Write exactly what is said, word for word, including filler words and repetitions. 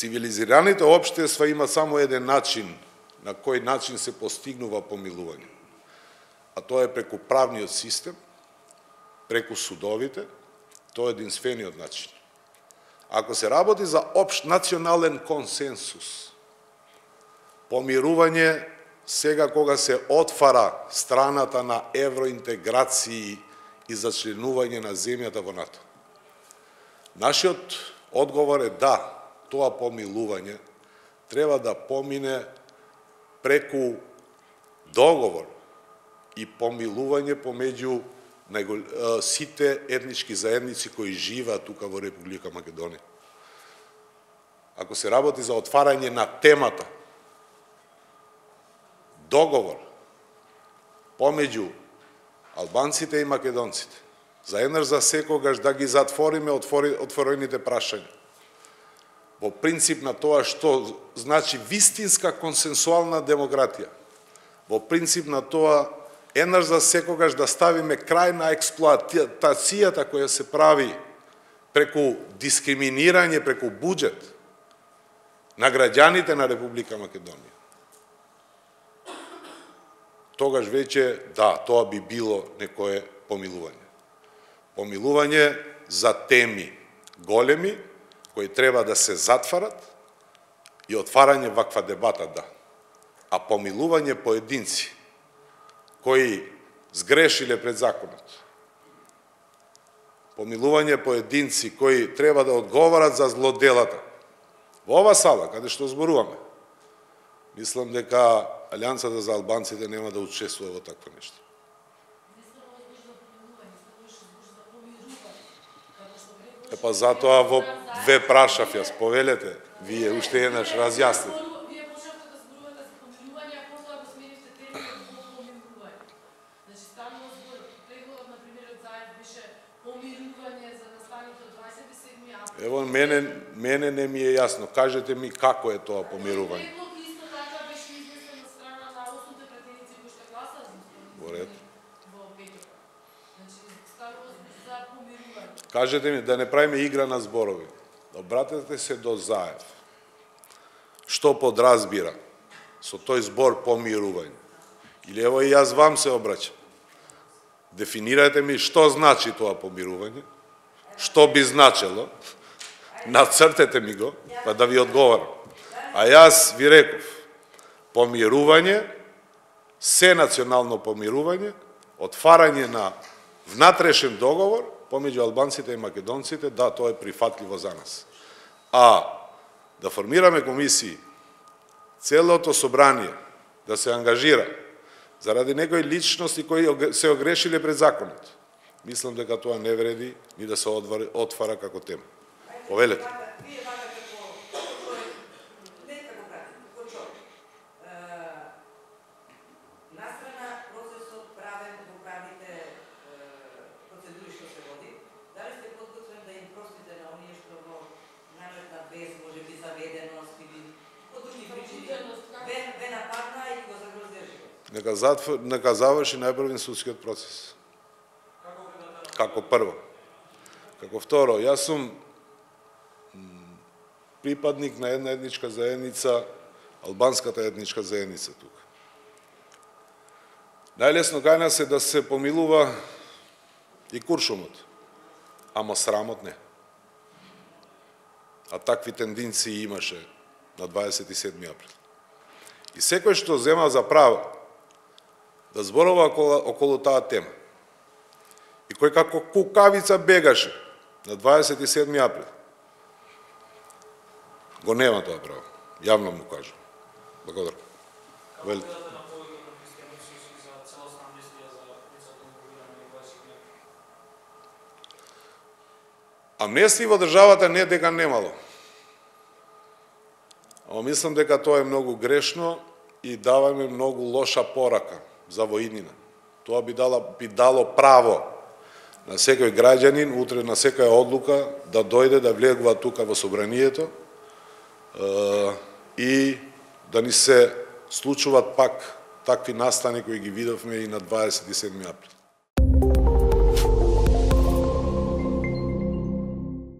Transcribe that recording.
Цивилизираните општества има само еден начин на кој начин се постигнува помилување. А тоа е преку правниот систем, преку судовите, тоа е единствениот начин. Ако се работи за општ национален консенсус, помирување сега кога се отвара страната на евроинтеграции и зачленување на земјата во НАТО. Нашиот одговор е да, тоа помилување треба да помине преку договор и помилување помеѓу сите етнички заедници кои живеат тука во Република Македонија. Ако се работи за отварање на темата, договор помеѓу албанците и македонците, за еднаш за секогаш да ги затвориме отворените прашања, во принцип на тоа што значи вистинска консенсуална демократија, во принцип на тоа еднаш за секогаш да ставиме крај на експлоатацијата која се прави преку дискриминирање, преку буџет на граѓаните на Република Македонија. Тогаш веќе, да, тоа би било некое помилување. Помилување за теми големи, кои треба да се затварат и отварање ваква дебата, да. А помилување поединци, кои сгрешиле пред законот, помилување поединци кои треба да одговарат за злоделата, во ова сала, каде што зборуваме, мислам дека Алијансата за албанците нема да учествува во такво нешто. Е па затоа во ве прашав јас, повелете, вие уште еднаш разјаснете. Вие почнавте да зборувате за помирување, а потоа го сменивте терминот во помирување. Значи станува збор, прегледот на премиерот Заев беше помирување за настаните од дваесет и седми април. Ево, мене, мене не ми е јасно. Кажете ми како е тоа помирување. Преглед исто така беше изнесен на страна на осумте пратеници кои што гласаа за изборите. Во ред. Во петок. Значи станува за помирување. Кажете ми, да не правиме игра на зборови. Обратете се до Заев. Што подразбира со тој збор помирување? Или ево и јас вам се обраќам. Дефинирате ми што значи тоа помирување, што би значело, нацртете ми го, па да ви одговорам. А јас ви реков, помирување, се национално помирување, отварање на внатрешен договор помеѓу албанците и македонците, да, тоа е прифатливо за нас. А да формираме комисии, целото собрание да се ангажира заради некои личности кои се огрешиле пред законот, мислам дека тоа не вреди ни да се отвара како тема. Повелете. Нека заврши најпрвен судскиот процес. Како прво. Како второ, јас сум припадник на една етничка заедница, албанската етничка заедница тука. Најлесно кај нас е да се помилува и куршумот, ама срамот не. А такви тенденции имаше на дваесет и седми април. И секој што зема за право да зборува околу, околу таа тема, и кој како кукавица бегаше на дваесет и седми април, го нема тоа право. Јавно му кажам. Благодарам. Велите. Амнестии во државата не дека немало. Ама мислам дека тоа е многу грешно и даваме многу лоша порака за воиднина. Тоа би дало, би дало право на секој граѓанин, утре на секоја одлука, да дојде да влегува тука во собранието и да ни се случуваат пак такви настани кои ги видовме и на дваесет и седми април.